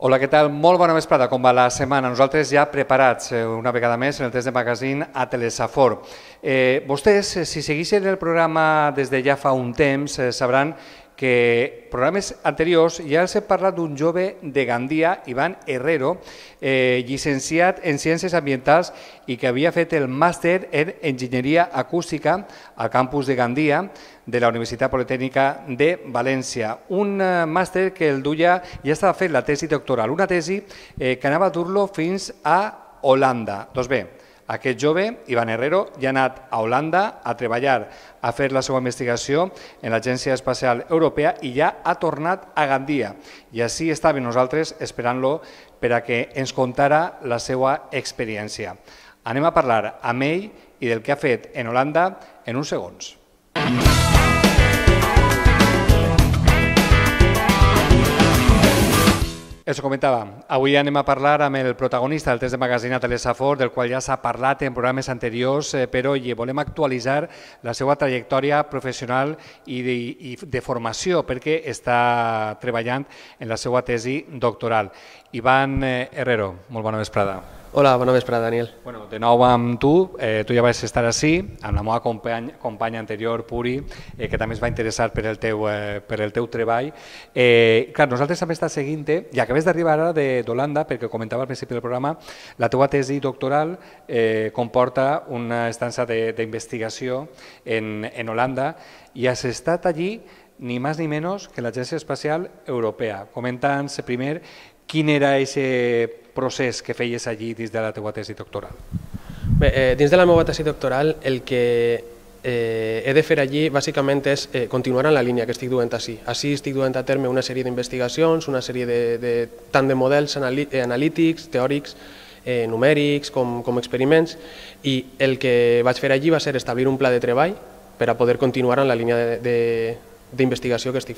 Hola, què tal? Molt bona vesprada, com va la setmana? Nosaltres ja preparats una vegada més en el test de magazine a Telesafor. Vostès, si segueixen el programa des de ja fa un temps, sabran que programes anteriors ja els he parlat d'un jove de Gandia, Ivan Herrero, llicenciat en Ciències Ambientals i que havia fet el màster en Enginyeria Acústica al campus de Gandia de la Universitat Politècnica de València. Un màster que el duia, ja estava fent la tesi doctoral, una tesi que anava a dur-lo fins a Holanda. Doncs bé, aquest jove, Ivan Herrero, ja ha anat a Holanda a treballar, a fer la seva investigació en l'Agència Espacial Europea i ja ha tornat a Gandia. I així estàvem nosaltres esperant-lo per a que ens contara la seva experiència. Anem a parlar amb ell i del que ha fet en Holanda en uns segons. Això comentava, avui anem a parlar amb el protagonista del test de magazine a Telesafor, del qual ja s'ha parlat en programes anteriors, però volem actualitzar la seva trajectòria professional i de formació, perquè està treballant en la seva tesi doctoral. Ivan Herrero, molt bona vesprada. Hola, bona vesprada, Daniel. Bueno, de nou amb tu ja vas estar així, amb la meva companya anterior, Puri, que també es va interessar per el teu treball. Clar, nosaltres també estem seguint-te, i acabes d'arribar ara d'Holanda, perquè comentava al principi del programa, la teva tesi doctoral comporta una estança d'investigació en Holanda, i has estat allí ni més ni menys que l'Agència Espacial Europea. Comenta'ns primer quin era aquest procés que feies allí dins de la teva tesi doctoral. Bé, dins de la meva tesi doctoral el que he de fer allí bàsicament és continuar en la línia que estic duent així. Així estic duent a terme una sèrie d'investigacions, una sèrie tant de models analítics, teòrics, numèrics com experiments, i el que vaig fer allí va ser establir un pla de treball per a poder continuar en la línia d'investigació que estic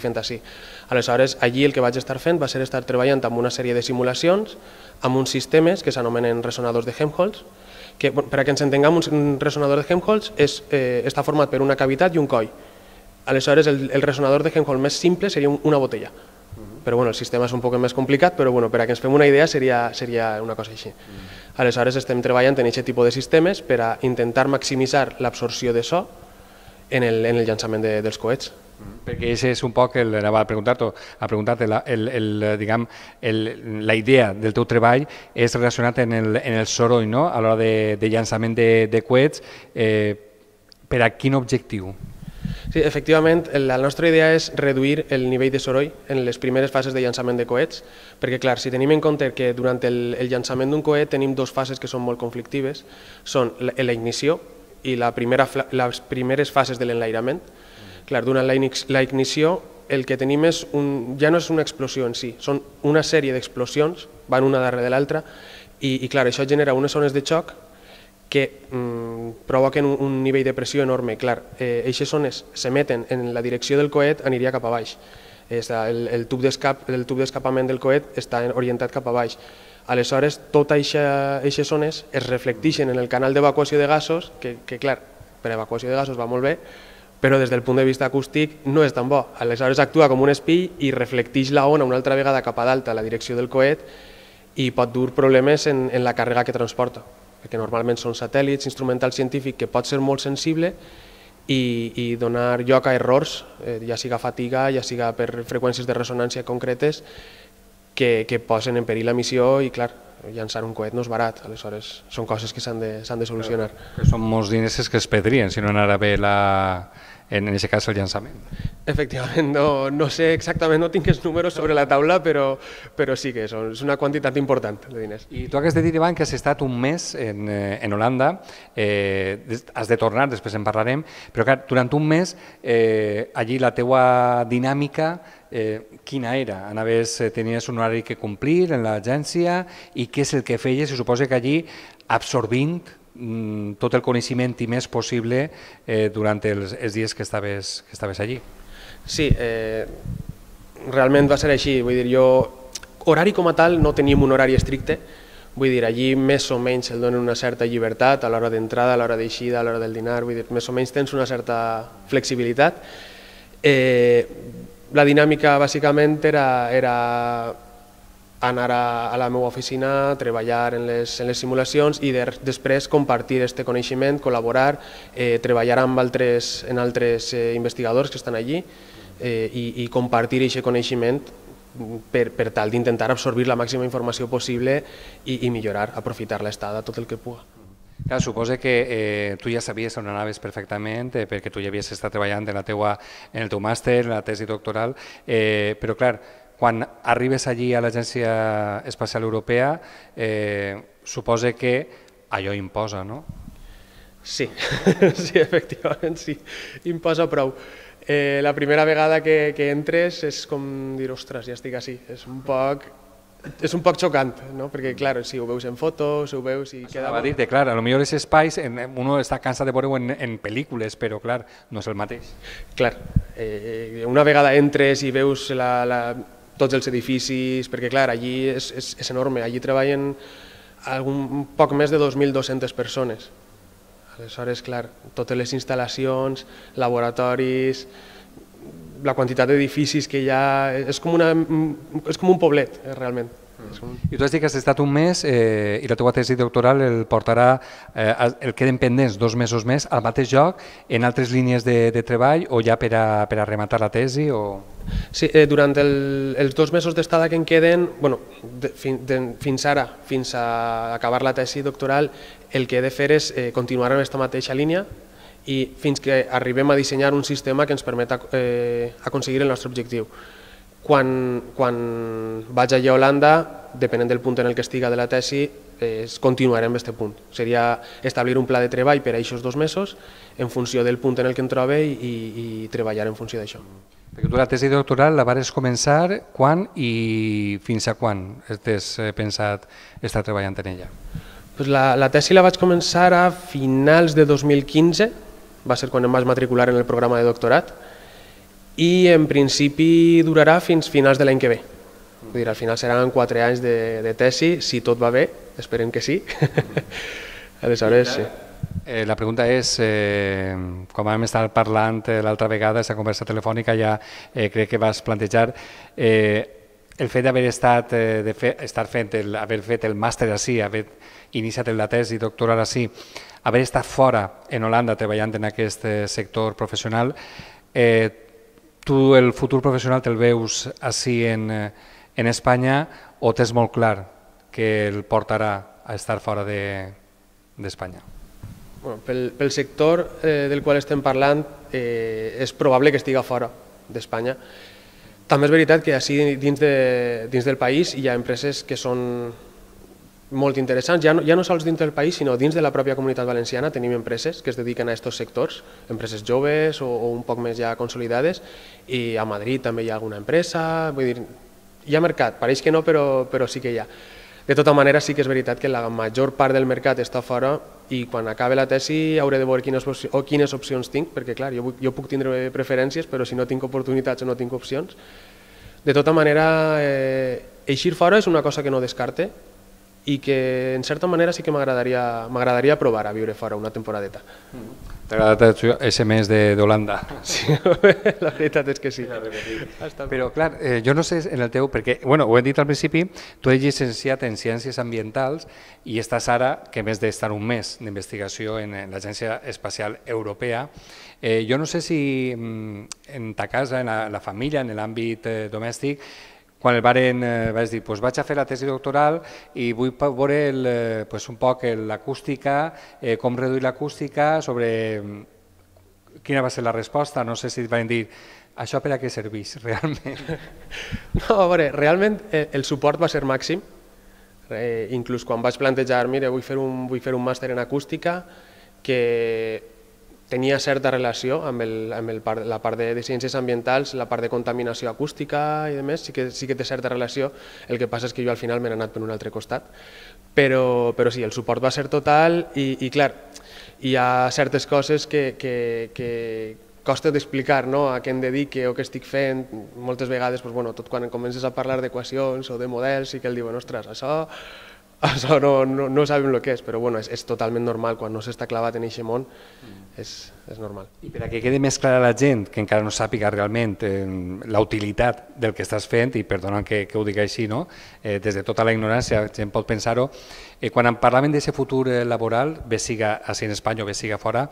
fent així. Aleshores, allí el que vaig estar fent va ser estar treballant amb una sèrie de simulacions, amb uns sistemes que s'anomenen resonadors de Helmholtz, que, per a que ens entenguem, un resonador de Helmholtz està format per una cavitat i un coll. Aleshores, el resonador de Helmholtz més simple seria una botella. Però el sistema és un poc més complicat, però per a que ens fem una idea seria una cosa així. Aleshores, estem treballant en aquest tipus de sistemes per a intentar maximitzar l'absorció de so en el llançament dels coets. Perquè això és un poc, anava a preguntar-te, la idea del teu treball és relacionat en el soroll, no? A l'hora de llançament de coets, per a quin objectiu? Sí, efectivament, la nostra idea és reduir el nivell de soroll en les primeres fases de llançament de coets, perquè, clar, si tenim en compte que durant el llançament d'un coet tenim dues fases que són molt conflictives, són la ignició i les primeres fases de l'enlairament. Clar, durant la ignició el que tenim ja no és una explosió en si, són una sèrie d'explosions, van una darrere de l'altra, i clar, això genera unes ones de xoc que provoquen un nivell de pressió enorme. Clar, aquestes ones s'emeten en la direcció del coet, aniria cap a baix. El tub d'escapament del coet està orientat cap a baix. Aleshores, totes aquestes ones es reflecteixen en el canal d'evacuació de gasos, que clar, per evacuació de gasos va molt bé, però des del punt de vista acústic no és tan bo. Aleshores actua com un espill i reflecteix la ona una altra vegada cap a dalt a la direcció del coet i pot dur problemes en la càrrega que transporta, perquè normalment són satèl·lits, instrumental científic que pot ser molt sensible i donar lloc a errors, ja siga fatiga, ja siga per freqüències de ressonància concretes, que posen en perill la missió i, clar, llançar un coet no és barat, aleshores són coses que s'han de solucionar. Són molts diners que es perdrien si no anara bé, en aquest cas, el llançament. Efectivament, no sé exactament, no tinc els números sobre la taula, però sí que és una quantitat important de diners. I tu has de dir, Ivan, que has estat un mes en Holanda, has de tornar, després en parlarem, però clar, durant un mes allí la teua dinàmica quina era? Tenies un horari que complir en l'agència i què és el que feies? Se suposa que allí absorbint tot el coneixement i més possible durant els dies que estaves allí. Sí, realment va ser així. Vull dir, horari com a tal no teníem un horari estricte. Vull dir, allí més o menys el donen una certa llibertat a l'hora d'entrada, a l'hora d'eixida, a l'hora del dinar. Vull dir, més o menys tens una certa flexibilitat. La dinàmica bàsicament era anar a la meva oficina, treballar en les simulacions i després compartir aquest coneixement, col·laborar, treballar amb altres investigadors que estan allí i compartir aquest coneixement per tal d'intentar absorbir la màxima informació possible i millorar, aprofitar l'estada tot el que pugui. Clar, suposo que tu ja sabies on anaves perfectament perquè tu ja havies estat treballant en el teu màster, en la tesi doctoral, però clar, quan arribes allí a l'Agència Espacial Europea, suposo que allò imposa, no? Sí, sí, efectivament, sí, imposa prou. La primera vegada que entres és com dir, ostres, ja estic així, és un poc xocant, no? Perquè, clar, si ho veus en fotos, ho veus i queda... Va dir-te, clar, potser els espais, uno està cansat de veure-ho en pel·lícules, però, clar, no és el mateix. Clar, una vegada entres i veus tots els edificis, perquè, clar, allí és enorme, allí treballen un poc més de 2.200 persones. Aleshores, clar, totes les instal·lacions, laboratoris, la quantitat d'edificis que hi ha, és com un poblet, realment. I tu has dit que has estat un mes i la teva tesi doctoral el queden pendents 2 mesos més al mateix lloc, en altres línies de treball o ja per a rematar la tesi? Sí, durant els 2 mesos d'estada que em queden, fins ara, fins a acabar la tesi doctoral, el que he de fer és continuar en aquesta mateixa línia i fins que arribem a dissenyar un sistema que ens permet aconseguir el nostre objectiu. Quan vaig allà a Holanda, depenent del punt en el que estiga de la tesi, continuarem en aquest punt. Seria establir un pla de treball per a aquests 2 mesos en funció del punt en el que em trobe i treballar en funció d'això. Perquè tu la tesi doctoral la vas començar quan i fins a quan has pensat estar treballant en ella? La tesi la vaig començar a finals de 2015, va ser quan em vaig matricular en el programa de doctorat, i en principi durarà fins finals de l'any que ve. Vull dir, al final seran 4 anys de tesi, si tot va bé, esperem que sí. Aleshores, sí. La pregunta és, com vam estar parlant l'altra vegada, aquesta conversa telefònica, ja crec que vas plantejar el fet d'haver fet el màster ací, haver iniciat la tesi doctoral ací, haver estat fora en Holanda treballant en aquest sector professional, tu el futur professional te'l veus ací en Espanya o tens molt clar que el portarà a estar fora d'Espanya? Pel sector del qual estem parlant és probable que estigui fora d'Espanya. També és veritat que així dins del país hi ha empreses que són molt interessants, ja no sols dins del país, sinó dins de la pròpia Comunitat Valenciana tenim empreses que es dediquen a aquests sectors, empreses joves o un poc més ja consolidades, i a Madrid també hi ha alguna empresa, vull dir, hi ha mercat, pareix que no, però sí que hi ha. De tota manera, sí que és veritat que la major part del mercat està fora i quan acabi la tesi hauré de veure quines opcions tinc, perquè clar, jo puc tindre preferències, però si no tinc oportunitats o no tinc opcions. De tota manera, eixir fora és una cosa que no descarte, i que en certa manera sí que m'agradaria provar a viure fora una temporadeta. T'ha agradat aquest mes d'Holanda? Sí, la veritat és que sí. Però clar, jo no sé en el teu, perquè ho hem dit al principi, tu ets llicenciat en Ciències Ambientals i estàs ara, que més d'estar un mes d'investigació en l'Agència Espacial Europea, jo no sé si en ta casa, en la família, en l'àmbit domèstic, quan el vaig dir, vaig a fer la tesi doctoral i vull veure un poc l'acústica, com reduir l'acústica, sobre quina va ser la resposta, no sé si et van dir, això per a què serveix realment? No, a veure, realment el suport va ser màxim, inclús quan vaig plantejar, mira, vull fer un màster en acústica, que tenia certa relació amb la part de ciències ambientals, la part de contaminació acústica i demés, sí que té certa relació, el que passa és que jo al final m'he anat per un altre costat, però sí, el suport va ser total i clar, hi ha certes coses que costa d'explicar a què em dedique o què estic fent, moltes vegades tot quan comences a parlar d'equacions o de models sí que el diuen, ostres, això això no sabem el que és, però bueno, és totalment normal, quan no s'està clavat en aquest món és normal. I per a que quedi més clara a la gent que encara no sàpiga realment la utilitat del que estàs fent, i perdona que ho digui així, no? Des de tota la ignorància, la gent pot pensar-ho, quan en parlaven d'aquest futur laboral, bé siga així en Espanya o bé siga fora,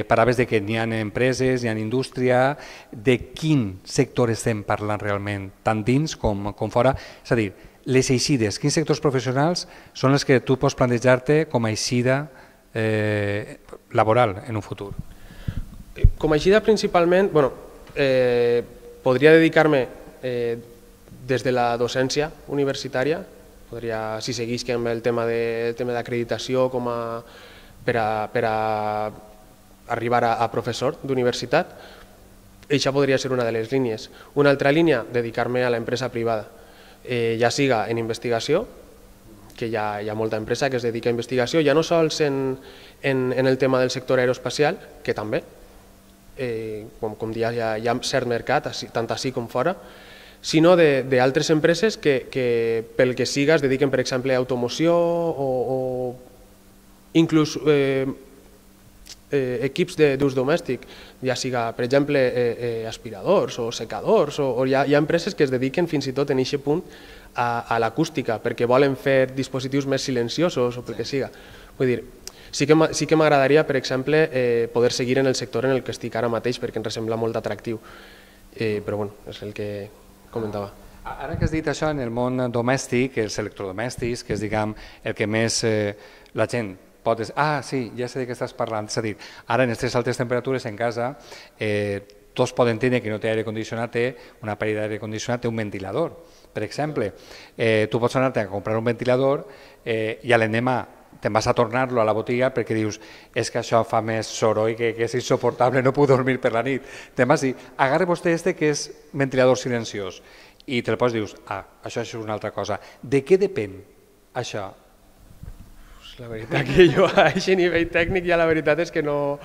parlaves de que n'hi ha empreses, n'hi ha indústria, de quin sector estem parlant realment, tant dins com fora, és a dir, les eixides, quins sectors professionals són els que tu pots plantejar-te com a eixida laboral en un futur? Com a eixida principalment, podria dedicar-me des de la docència universitària, si seguís amb el tema d'acreditació per a arribar a professor d'universitat, això podria ser una de les línies. Una altra línia, dedicar-me a l'empresa privada, ja siga en investigació, que hi ha molta empresa que es dedica a investigació, ja no sols en el tema del sector aeroespacial, que també, com dia hi ha cert mercat, tant així com fora, sinó d'altres empreses que pel que siga es dediquen, per exemple, a automoció o inclús equips d'ús domèstic, ja siga, per exemple, aspiradors o secadors, o hi ha empreses que es dediquen fins i tot en aquest punt a l'acústica, perquè volen fer dispositius més silenciosos o pel que siga. Vull dir, sí que m'agradaria, per exemple, poder seguir en el sector en el que estic ara mateix, perquè ens sembla molt atractiu, però bueno, és el que comentava. Ara que has dit això, en el món domèstic, els electrodomèstics, que és, diguem, el que més la gent pot... sí, ja sé de què estàs parlant. És a dir, ara en aquestes altes temperatures en casa, tots poden tenir, que no té aire condicionat, té un aparell d'aire condicionat, té un ventilador. Per exemple, tu pots anar-te a comprar un ventilador i a l'endemà te'n vas a tornar-lo a la botiga perquè dius és que això fa més soroll que és insoportable, no puc dormir per la nit. Te'n vas dir, agarra vostè que és ventilador silenciós i te'l pots dius, això és una altra cosa. De què depèn això? La veritat que jo a aquest nivell tècnic ja la veritat és que no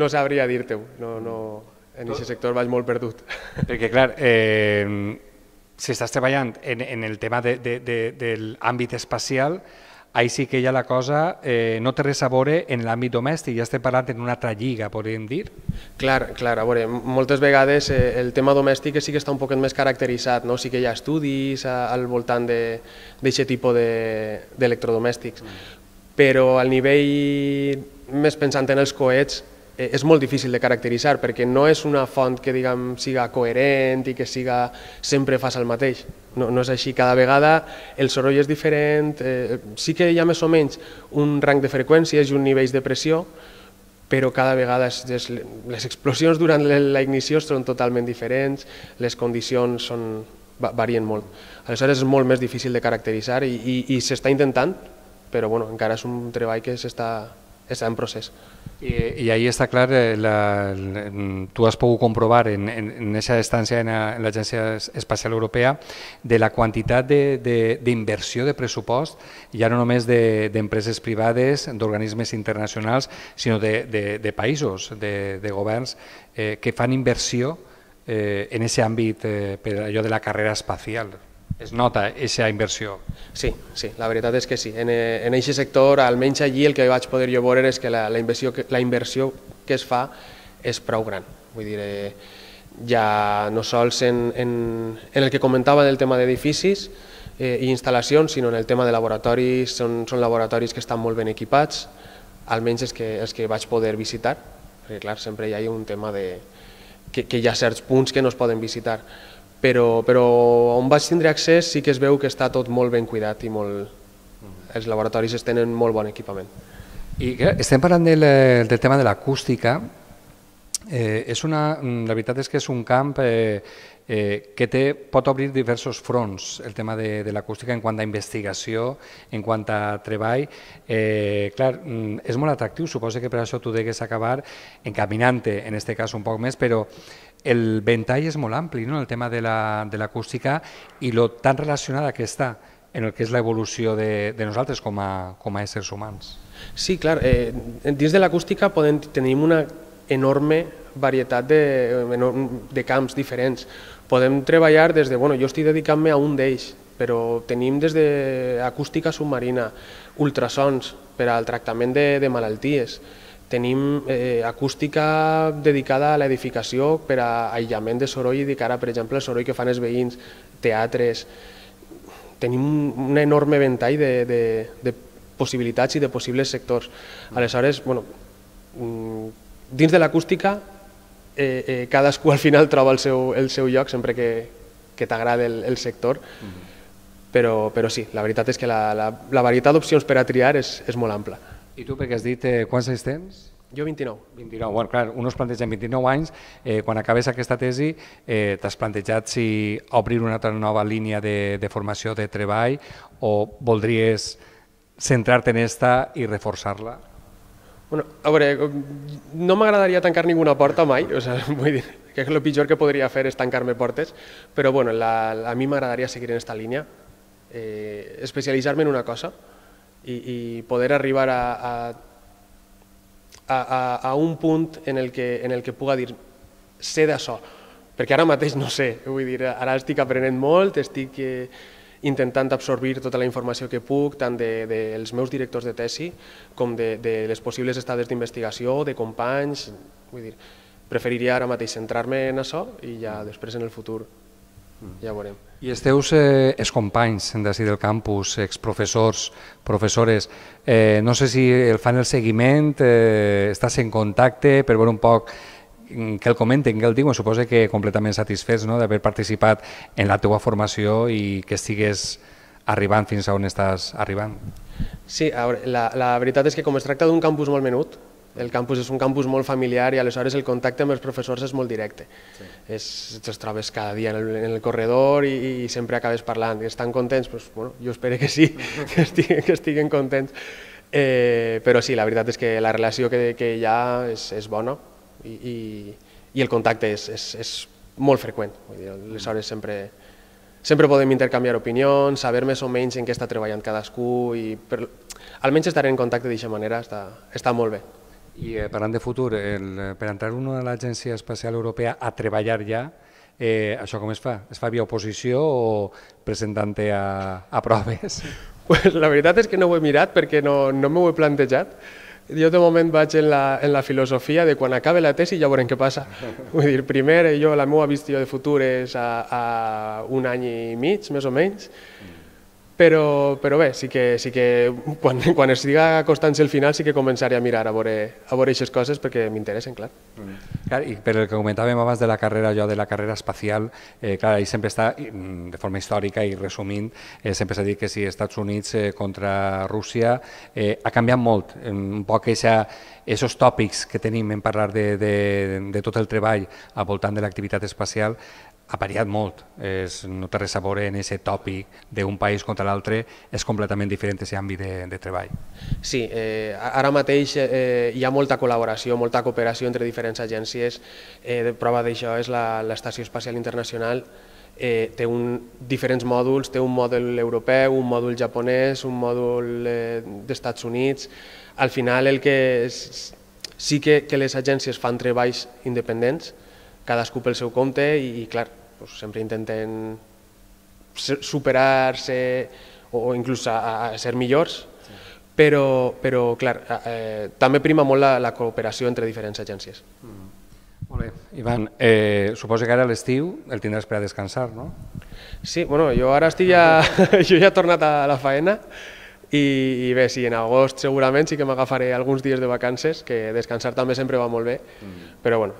sabria dir-te-ho. En aquest sector vaig molt perdut. Perquè, clar, si estàs treballant en el tema de l'àmbit espacial, ahí sí que ja la cosa no té res a veure en l'àmbit domèstic, ja estem parlant en una altra lliga, podríem dir? Clar, a veure, moltes vegades el tema domèstic sí que està un poquet més caracteritzat, sí que hi ha estudis al voltant d'aquest tipus d'electrodomèstics, però al nivell més pensant en els coets és molt difícil de caracteritzar perquè no és una font que diguem siga coherent i que sempre fas el mateix. No és així, cada vegada el soroll és diferent, sí que hi ha més o menys un rang de freqüències i un nivell de pressió, però cada vegada les explosions durant la ignició són totalment diferents, les condicions varien molt. Aleshores és molt més difícil de caracteritzar i s'està intentant, però encara és un treball que està en procés. I ahí està clar, tu has pogut comprovar en aquesta estància en l'Agència Espacial Europea de la quantitat d'inversió de pressupost, ja no només d'empreses privades, d'organismes internacionals, sinó de països, de governs que fan inversió en aquest àmbit per allò de la carrera espacial. Es nota aquesta inversió? Sí, la veritat és que sí. En aquest sector, almenys allí, el que vaig poder jo veure és que la inversió que es fa és prou gran. Vull dir, ja no sols en el que comentava del tema d'edificis i instal·lacions, sinó en el tema de laboratoris, són laboratoris que estan molt ben equipats, almenys els que vaig poder visitar, perquè clar, sempre hi ha un tema que hi ha certs punts que no es poden visitar, però on vaig tindre accés sí que es veu que està tot molt ben cuidat i els laboratoris tenen molt bon equipament. I estem parlant del tema de l'acústica. La veritat és que és un camp que pot obrir diversos fronts, el tema de l'acústica en quant a investigació, en quant a treball. Clar, és molt atractiu, suposo que per això tu degues acabar encaminant-te, en aquest cas un poc més, però el ventall és molt ampli, el tema de l'acústica i lo tan relacionada que està en el que és l'evolució de nosaltres com a éssers humans. Sí, clar, dins de l'acústica tenim una enorme varietat de camps diferents. Podem treballar des de... jo estic dedicant-me a un d'ells, però tenim des d'acústica submarina, ultrasons per al tractament de malalties, tenim acústica dedicada a l'edificació per a aïllament de soroll i de cara, per exemple, al soroll que fan els veïns, teatres. Tenim un enorme ventall de possibilitats i de possibles sectors. Aleshores, dins de l'acústica, cadascú al final troba el seu lloc, sempre que t'agrada el sector, però sí, la veritat és que la varietat d'opcions per a triar és molt ampla. I tu, perquè has dit, quants anys tens? Jo 29. 29, bueno, clar, un es planteja en 29 anys, quan acabes aquesta tesi, t'has plantejat si obrir una altra nova línia de formació de treball o voldries centrar-te en esta i reforçar-la? A veure, no m'agradaria tancar ninguna porta mai, vull dir que el pitjor que podria fer és tancar-me portes, però a mi m'agradaria seguir en aquesta línia, especialitzar-me en una cosa i poder arribar a un punt en el que puga dir sé d'això, perquè ara mateix no sé, vull dir, ara estic aprenent molt, estic intentant absorbir tota la informació que puc, tant dels meus directors de tesi com de les possibles estades d'investigació, de companys, vull dir, preferiria ara mateix centrar-me en això i ja després en el futur ja veurem. I els teus excompanys d'ací del campus, exprofessors, professores, no sé si el fan el seguiment, estàs en contacte per veure un poc que el comenten, que el diuen, suposo que completament satisfets d'haver participat en la teva formació i que estigues arribant fins a on estàs arribant. Sí, la veritat és que com es tracta d'un campus molt menut, el campus és un campus molt familiar i aleshores el contacte amb els professors és molt directe. Te'ls trobes cada dia en el corredor i sempre acabes parlant. Estan contents? Jo espero que sí, que estiguen contents. Però sí, la veritat és que la relació que hi ha és bona i el contacte és molt freqüent. Aleshores sempre podem intercanviar opinions, saber més o menys en què està treballant cadascú i almenys estar en contacte d'aquesta manera està molt bé. I parlant de futur, per entrar a l'Agència Espacial Europea a treballar ja, això com es fa? Es fa via oposició o presentant-te a proves? La veritat és que no ho he mirat perquè no m'ho he plantejat. Jo de moment vaig en la filosofia de quan acabe la tesi ja veurem què passa. Vull dir, primer la meva visió de futur és a un any i mig, més o menys, però bé, sí que quan estigui acostant-se el final sí que començaré a mirar a veure aquestes coses perquè m'interessen, clar. I per el que comentàvem abans de la carrera, allò de la carrera espacial, clar, ahí sempre està, de forma històrica i resumint, sempre s'ha dit que si Estats Units contra Rússia ha canviat molt, un poc aquests tòpics que tenim en parlar de tot el treball al voltant de l'activitat espacial ha variat molt, no té res a veure en aquest tòpic d'un país contra l'altre, és completament diferent aquest àmbit de treball. Sí, ara mateix hi ha molta col·laboració, molta cooperació entre diferents agències. Prova d'això és l'Estació Espacial Internacional, té diferents mòduls, té un mòdul europeu, un mòdul japonès, un mòdul d'Estats Units. Al final sí que les agències fan treballs independents, cadascú pel seu compte i clar, sempre intenten superar-se o inclús a ser millors, però clar, també prima molt la cooperació entre diferents agències. Molt bé. Ivan, suposo que ara a l'estiu el tindràs per a descansar, no? Sí, jo ara jo ja he tornat a la faena i bé, sí, en agost segurament sí que m'agafaré alguns dies de vacances, que descansar també sempre va molt bé, però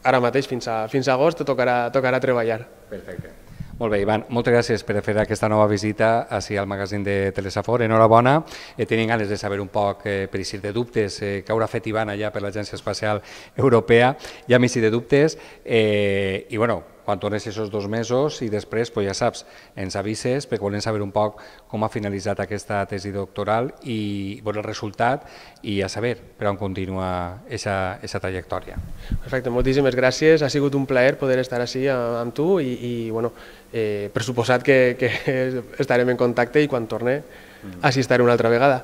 ara mateix fins a agost tocarà treballar. Perfecte. Molt bé, Ivan, moltes gràcies per fer aquesta nova visita ací al magazín de Telesafor. Enhorabona. Tenim ganes de saber un poc, per si de dubtes, què haurà fet Ivan allà per l'Agència Espacial Europea. Ja m'hi si de dubtes. I bueno, quan tornes aquests 2 mesos i després, ja saps, ens avises perquè volem saber un poc com ha finalitzat aquesta tesi doctoral i veure el resultat i a saber per on continua aquesta trajectòria. Perfecte, moltíssimes gràcies. Ha sigut un plaer poder estar així amb tu i per suposat que estarem en contacte i quan torne així estaré una altra vegada.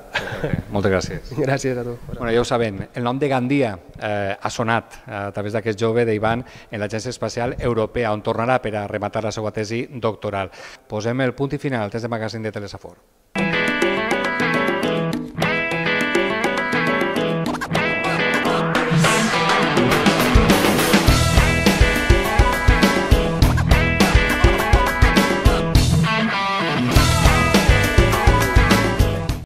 Moltes gràcies. Gràcies a tu. Bueno, ja ho saben, el nom de Gandia ha sonat a través d'aquest jove d'Ivan en l'Agència Espacial Europea, on tornarà per a rematar la seva tesi doctoral. Posem el punt i final al test de magazín de Telesafor.